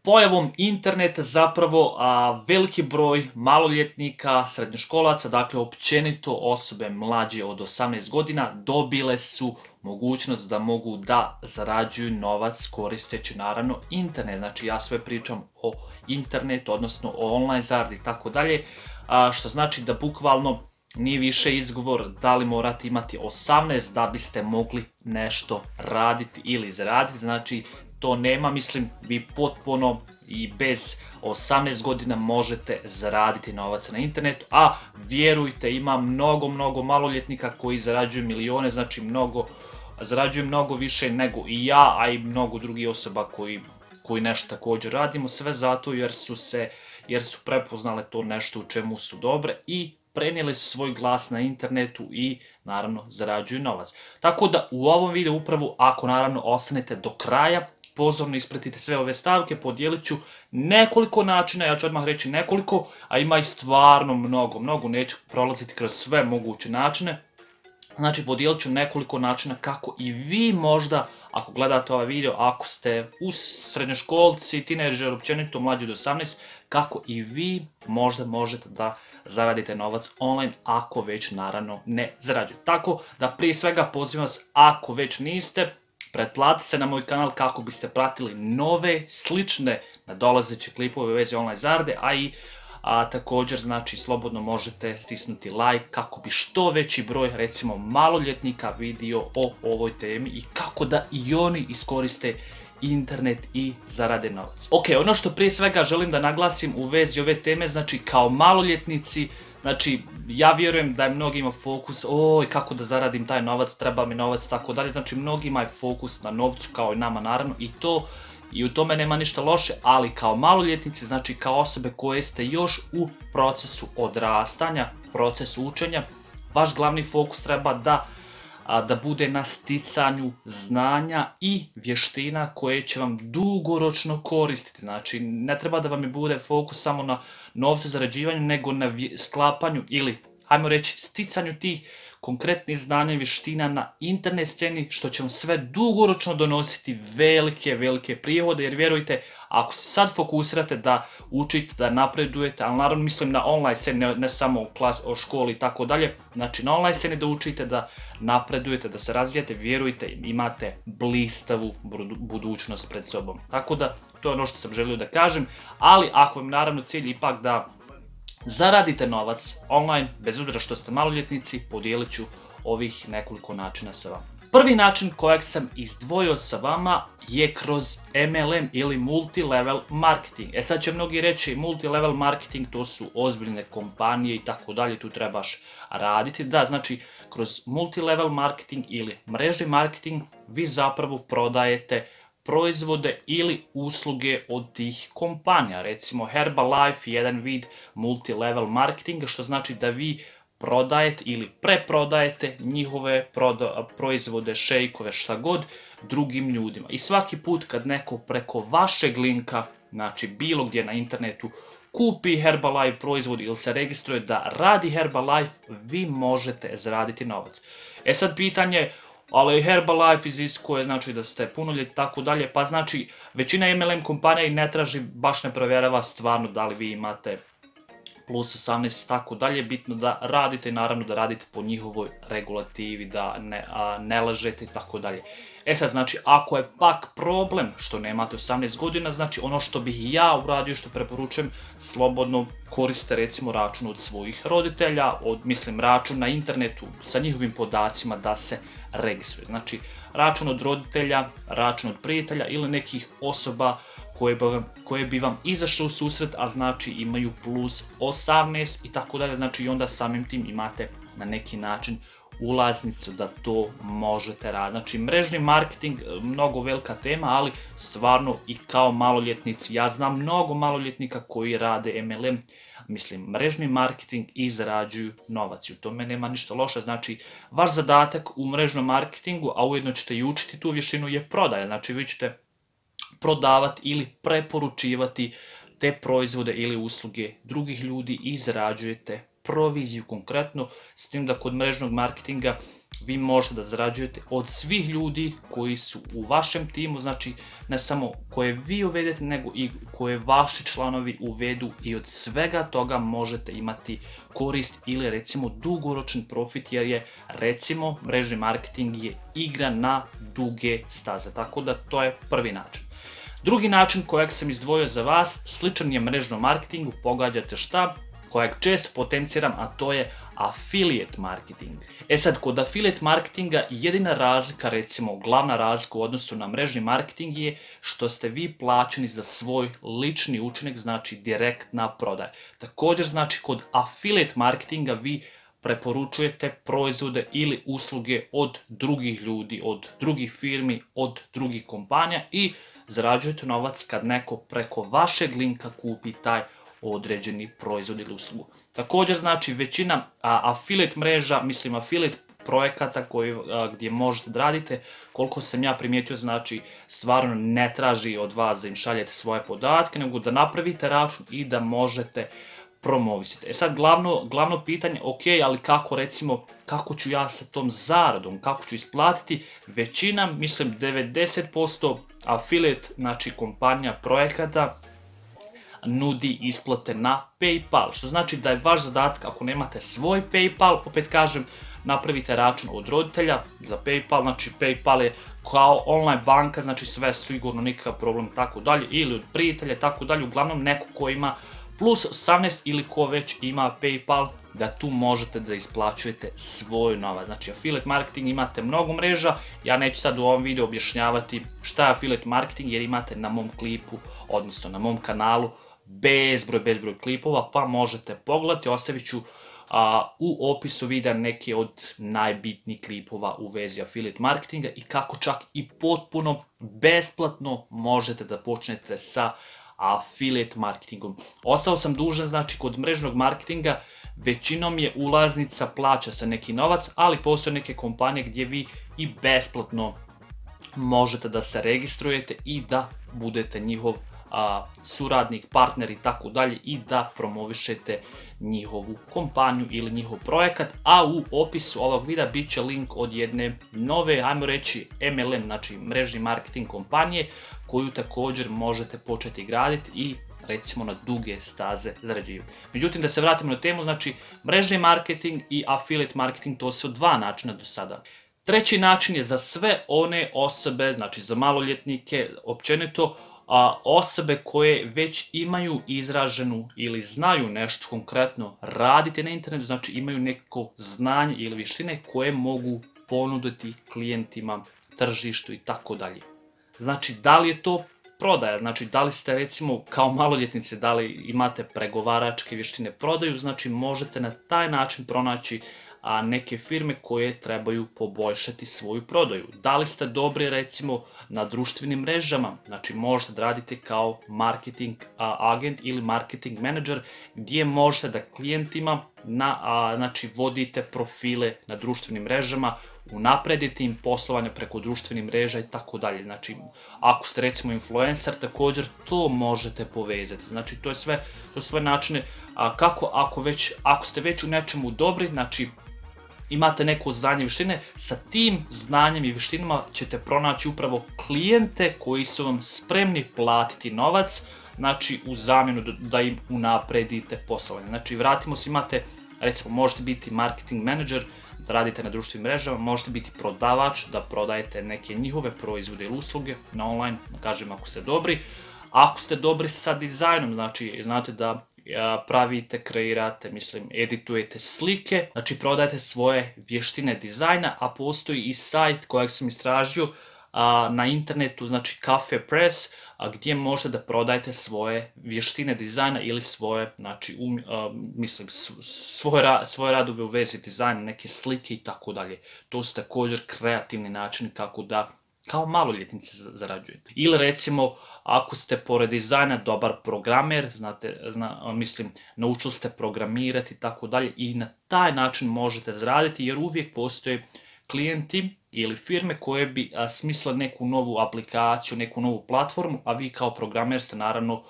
Pojavom interneta zapravo veliki broj maloljetnika, srednjoškolaca, dakle općenito osobe mlađe od 18 godina dobile su mogućnost da mogu da zarađuju novac koristeći naravno internet. Znači ja sve pričam o internetu, odnosno o online zaradi i tako dalje, što znači da bukvalno nije više izgovor da li morate imati 18 da biste mogli nešto raditi ili zaraditi. Znači to nema, mislim, vi potpuno i bez 18 godina možete zaraditi novac na internetu, a vjerujte, ima mnogo maloljetnika koji zarađuju milione, znači zarađuju mnogo više nego i ja, a i mnogo drugih osoba koji nešto također radimo, sve zato jer su prepoznale to nešto u čemu su dobre i prenijeli su svoj glas na internetu i naravno zarađuju novac. Tako da u ovom videu upravo, ako naravno ostanete do kraja, pozorno ispratite sve ove stavke, podijelit ću nekoliko načina, ja ću odmah reći nekoliko, a ima i stvarno mnogo, neću prolaziti kroz sve moguće načine. Znači podijelit ću nekoliko načina kako i vi možda, ako gledate ovaj video, ako ste u srednjoškolci, tinejdžeri, općenito mlađi od 18, kako i vi možda možete da zaradite novac online ako već naravno ne zarađujete. Tako da prije svega pozivam vas, ako već niste, pretplatite se na moj kanal kako biste pratili nove, slične nadolazeće klipove u vezi online zarade, a također znači slobodno možete stisnuti like kako bi što veći broj recimo maloljetnika vidio o ovoj temi i kako da i oni iskoriste internet i zarade novac. Ok, ono što prije svega želim da naglasim u vezi ove teme, znači kao maloljetnici, znači ja vjerujem da je mnogima fokus, oj kako da zaradim taj novac, treba mi novac, tako dalje, znači mnogima je fokus na novcu kao i nama naravno i u tome nema ništa loše, ali kao maloljetnici, znači kao osobe koje ste još u procesu odrastanja, procesu učenja, vaš glavni fokus treba da bude na sticanju znanja i vještina koje će vam dugoročno koristiti. Znači ne treba da vam bude fokus samo na novcu, zarađivanju, nego na sklapanju ili, hajmo reći, sticanju tih konkretnih znanja i vještina na internet sceni, što će vam sve dugoročno donositi velike prihode, jer vjerujte, ako se sad fokusirate da učite, da napredujete, ali naravno mislim na online sceni, ne samo o školi i tako dalje, znači na online sceni da učite, da napredujete, da se razvijate, vjerujte, imate blistavu budućnost pred sobom. Tako da, to je ono što sam želio da kažem, ali ako vam naravno cilj ipak da zaradite novac online, bez obzira što ste maloljetnici, podijelit ću ovih nekoliko načina sa vama. Prvi način kojeg sam izdvojio sa vama je kroz MLM ili multilevel marketing. Sad će mnogi reći multilevel marketing, to su ozbiljne kompanije i tako dalje, tu trebaš raditi. Da, znači kroz multilevel marketing ili mrežni marketing vi zapravo prodajete proizvode ili usluge od tih kompanija. Recimo Herbalife je jedan vid multilevel marketinga, što znači da vi prodajete ili preprodajete njihove proizvode, šejkove, šta god, drugim ljudima. I svaki put kad neko preko vašeg linka, znači bilo gdje na internetu, kupi Herbalife proizvod ili se registruje da radi Herbalife, vi možete zaraditi novac. Sad pitanje, ali Herbalife iziskuje, znači da ste punoljetni i tako dalje, pa znači većina MLM kompanija i ne traži, baš ne provjerava stvarno da li vi imate plus 18 i tako dalje, bitno da radite i naravno da radite po njihovoj regulativi, da ne lažete i tako dalje. Sad znači ako je pak problem što nemate 18 godina, znači ono što bih ja uradio, što preporučujem, slobodno koriste recimo račun od svojih roditelja, mislim račun na internetu sa njihovim podacima da se registruje. Znači račun od roditelja, račun od prijatelja ili nekih osoba koje bi vam izašle u susret, a znači imaju plus 18 i tako dalje, znači i onda samim tim imate na neki način ulaznicu da to možete raditi. Znači mrežni marketing, mnogo velika tema, ali stvarno i kao maloljetnici, ja znam mnogo maloljetnika koji rade MLM, mislim mrežni marketing i zarađuju novac i u tome nema ništa loše. Znači vaš zadatak u mrežnom marketingu, a ujedno ćete i učiti tu vještinu, je prodaja. Znači vi ćete prodavati ili preporučivati te proizvode ili usluge drugih ljudi i zarađujete proviziju konkretno, s tim da kod mrežnog marketinga vi možete da zarađujete od svih ljudi koji su u vašem timu, znači ne samo koje vi uvedete, nego i koje vaši članovi uvedu, i od svega toga možete imati korist ili recimo dugoročan profit, jer je recimo mrežni marketing je igra na duge staze, tako da to je prvi način. Drugi način kojeg sam izdvojio za vas, sličan je mrežnom marketingu, pogađate šta, kojeg često potenciram, a to je affiliate marketing. E sad, kod affiliate marketinga jedina razlika, recimo glavna razlika u odnosu na mrežni marketing je što ste vi plaćeni za svoj lični učinak, znači direktna prodaja. Također znači kod affiliate marketinga vi preporučujete proizvode ili usluge od drugih ljudi, od drugih firmi, od drugih kompanija i zarađujete novac kad neko preko vašeg linka kupi taj određeni proizvod ili uslugu. Također znači većina affiliate mreža, mislim affiliate projekata gdje možete da radite, koliko sam ja primijetio, znači stvarno ne traži od vas da im šaljete svoje podatke, nego da napravite račun i da možete promovisati. E sad glavno pitanje, ok, ali kako recimo, kako ću ja sa tom zaradom, kako ću isplatiti? Većina, mislim 90% affiliate, znači kompanija projekata, nudi isplate na PayPal, što znači da je vaš zadatak, ako nemate svoj PayPal, opet kažem, napravite račun od roditelja za PayPal, znači PayPal je kao online banka, znači sve sigurno, nikakav problem, tako dalje, ili od prijatelja, tako dalje, uglavnom neko ko ima plus 18 ili ko već ima PayPal, da tu možete da isplaćujete svoj novac. Znači affiliate marketing imate mnogo mreža, ja neću sad u ovom videu objašnjavati šta je affiliate marketing, jer imate na mom klipu, odnosno na mom kanalu bezbroj klipova, pa možete pogledati, ostavit ću u opisu videa neke od najbitnijih klipova u vezi affiliate marketinga i kako čak i potpuno besplatno možete da počnete sa affiliate marketingom. Ostao sam dužan, znači kod mrežnog marketinga većinom je ulaznica, plaća se neki novac, ali postoje neke kompanije gdje vi i besplatno možete da se registrujete i da budete njihov suradnik, partner i tako dalje i da promovišete njihovu kompaniju ili njihov projekat, a u opisu ovog videa bit će link od jedne nove, ajmo reći MLM, znači mrežni marketing kompanije, koju također možete početi graditi i recimo na duge staze zarađivati. Međutim, da se vratimo na temu, znači mrežni marketing i affiliate marketing, to su dva načina do sada. Treći način je za sve one osobe, znači za maloljetnike, općenito osobe koje već imaju izraženu ili znaju nešto konkretno raditi na internetu, znači imaju neko znanje ili vještine koje mogu ponuditi klijentima, tržištu i tako dalje. Znači, da li je to prodaja, znači da li ste recimo kao maloljetnici, da li imate pregovaračke vještine prodaju, znači možete na taj način pronaći neke firme koje trebaju poboljšati svoju prodaju. Da li ste dobri recimo na društvenim mrežama, znači možete da radite kao marketing agent ili marketing menadžer, gdje možete da klijentima znači vodite profile na društvenim mrežama, unapredite im poslovanje preko društvenih mreža i tako dalje. Znači, ako ste recimo influencer, također to možete povezati. Znači, to je sve načine kako ako ste već u nečemu dobri, znači imate neko znanje i vještine, sa tim znanjem i vještinama ćete pronaći upravo klijente koji su vam spremni platiti novac, znači u zamjenu da im unapredite poslovanje. Znači, vratimo se, imate, recimo, možete biti marketing menadžer, da radite na društvenim mrežama, možete biti prodavač, da prodajete neke njihove proizvode ili usluge na online, kažem ako ste dobri. Ako ste dobri sa dizajnom, znači znate da pravite, kreirate, editujete slike, znači prodajete svoje vještine dizajna, a postoji i sajt kojeg sam istražio na internetu, znači Cafe Press, gdje možete da prodajete svoje vještine dizajna ili svoje, znači, svoje radove u vezi dizajna, neke slike i tako dalje. To su također kreativni načini kako da kao maloljetnici zarađujete. Ili recimo, ako ste pored dizajna dobar programer, naučili ste programirati i tako dalje, i na taj način možete zaraditi, jer uvijek postoje klijenti ili firme koje bi smislile neku novu aplikaciju, neku novu platformu, a vi kao programer ste naravno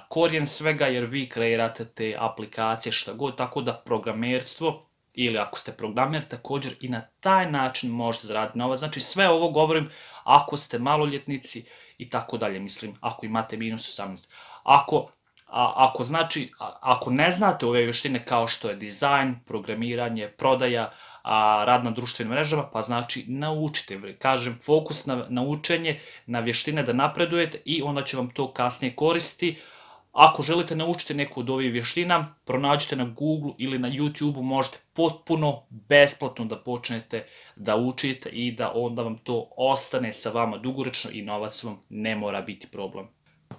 korijen svega, jer vi kreirate te aplikacije šta god, tako da programerstvo ili ako ste programer također i na taj način možete zaraditi novac. Znači sve ovo govorim ako ste maloljetnici i tako dalje, mislim ako imate minus 18. Ako ne znate ove vještine kao što je dizajn, programiranje, prodaja, rad na društvenim mrežama, pa znači naučite. Kažem, fokus na učenje, na vještine da napredujete i onda će vam to kasnije koristiti. Ako želite naučiti neku od ovih vještina, pronađite na Google ili na YouTube, možete potpuno besplatno da počnete da učite i da onda vam to ostane sa vama dugoročno i novac vam ne mora biti problem.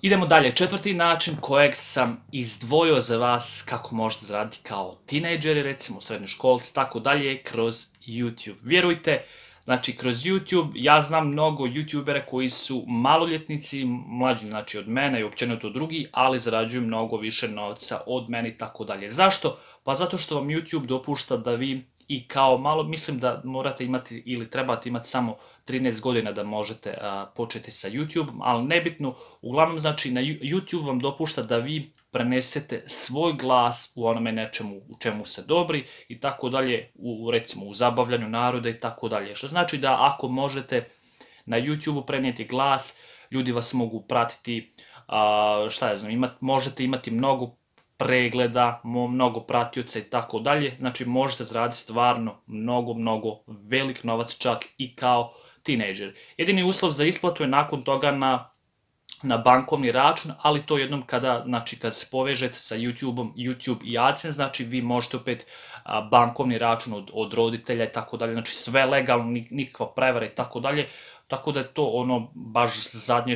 Idemo dalje, četvrti način kojeg sam izdvojio za vas kako možete zaraditi kao tinejdžeri, recimo srednjoškolci, tako dalje, kroz YouTube. Vjerujte, znači kroz YouTube, ja znam mnogo YouTubera koji su maloljetnici, mlađi znači od mene i općenito drugi, ali zarađuju mnogo više novca od mene i tako dalje. Zašto? Pa zato što vam YouTube dopušta da vi i kao malo, mislim da morate imati ili trebate imati samo 13 godina da možete početi sa YouTube, ali nebitno, uglavnom znači na YouTube vam dopušta da vi prenesete svoj glas u onome nečemu u čemu ste dobri i tako dalje, recimo u zabavljanju naroda i tako dalje. Što znači da ako možete na YouTube prenijeti glas, ljudi vas mogu pratiti, možete imati mnogo pregleda, mnogo pratioca i tako dalje, znači možete zaraditi stvarno mnogo velik novac čak i kao tinejdžer. Jedini uslov za isplatu je nakon toga na bankovni račun, ali to jednom kada se povežete sa YouTubeom, YouTube i AdSense, znači vi možete opet bankovni račun od roditelja i tako dalje, znači sve legalno, nikakva prevara i tako dalje, tako da je to ono baš zadnje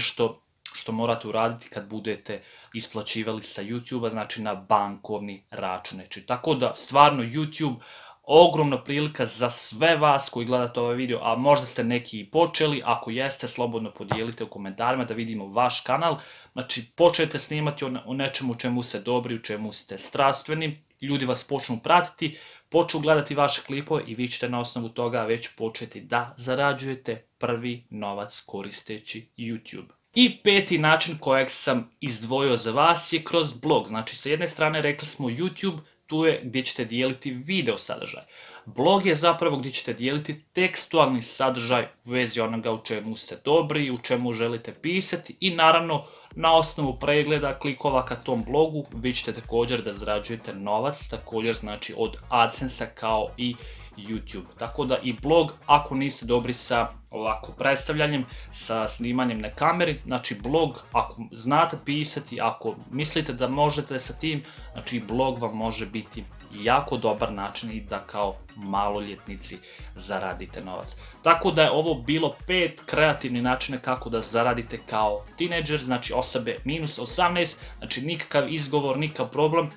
što morate uraditi kad budete isplaćivali sa YouTube-a, znači na bankovni račun. Tako da stvarno YouTube ogromna prilika za sve vas koji gledate ovaj video, a možda ste neki i počeli, ako jeste slobodno podijelite u komentarima da vidimo vaš kanal. Znači počnete snimati o nečemu u čemu ste dobri, u čemu ste strastveni, ljudi vas počnu pratiti, počnu gledati vaše klipove i vi ćete na osnovu toga već početi da zarađujete prvi novac koristeći YouTube. I peti način kojeg sam izdvojio za vas je kroz blog. Znači sa jedne strane rekli smo YouTube, tu je gdje ćete dijeliti video sadržaj. Blog je zapravo gdje ćete dijeliti tekstualni sadržaj u vezi onoga u čemu ste dobri, u čemu želite pisati i naravno na osnovu pregleda klikova ka tom blogu vi ćete također da zarađujete novac, također znači od AdSense-a kao i YouTube. Tako da i blog, ako niste dobri sa ovako predstavljanjem, sa snimanjem na kameri, znači blog, ako znate pisati, ako mislite da možete sa tim, znači blog vam može biti jako dobar način i da kao maloljetnici zaradite novac. Tako da je ovo bilo 5 kreativnih načina kako da zaradite kao tinejdžer, znači osobe minus 18, znači nikakav izgovor, nikakav problem,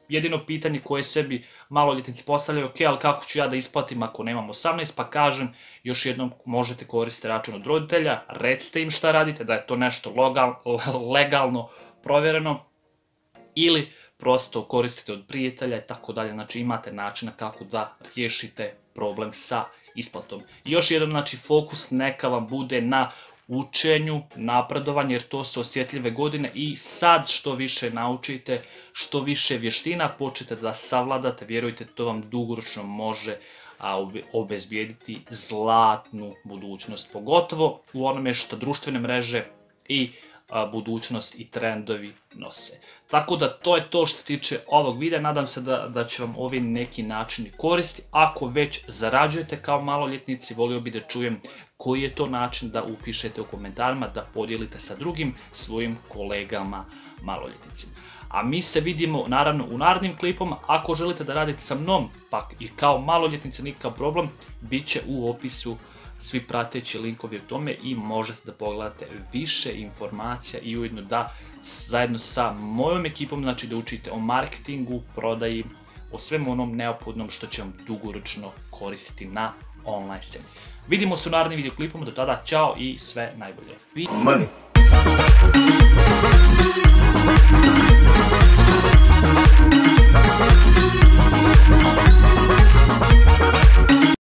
jedino pitanje koje sebi maloljetnici postavljaju, ok, ali kako ću ja da isplatim ako nemam 18, pa kažem još jednom možete koristiti račun od roditelja, recite im šta radite, da je to nešto legalno provjereno ili prosto koristite od prijatelja i tako dalje, znači imate načina kako da riješite problem sa isplatom. I još jednom, znači fokus neka vam bude na učenju, napredovanju, jer to su osjetljive godine i sad što više naučite, što više vještina počnete da savladate, vjerujte, to vam dugoročno može obezbijediti zlatnu budućnost, pogotovo u onome što društvene mreže i budućnost i trendovi nose. Tako da to je to što se tiče ovog videa, nadam se da će vam ovi neki načini koristiti. Ako već zarađujete kao maloljetnici, volio bih da čujem koji je to način, da upišete u komentarima, da podijelite sa drugim svojim kolegama maloljetnicima. A mi se vidimo naravno u narednim klipama. Ako želite da radite sa mnom, pa i kao maloljetnici, nikakav problem, bit će u opisu svi prateći linkovi o tome i možete da pogledate više informacija i ujedno da zajedno sa mojom ekipom, znači da učite o marketingu, prodaji, o svemu onom neophodnom što će vam dugoročno koristiti na online sceni. Vidimo se u narednim videoklipama, do tada ćao i sve najbolje.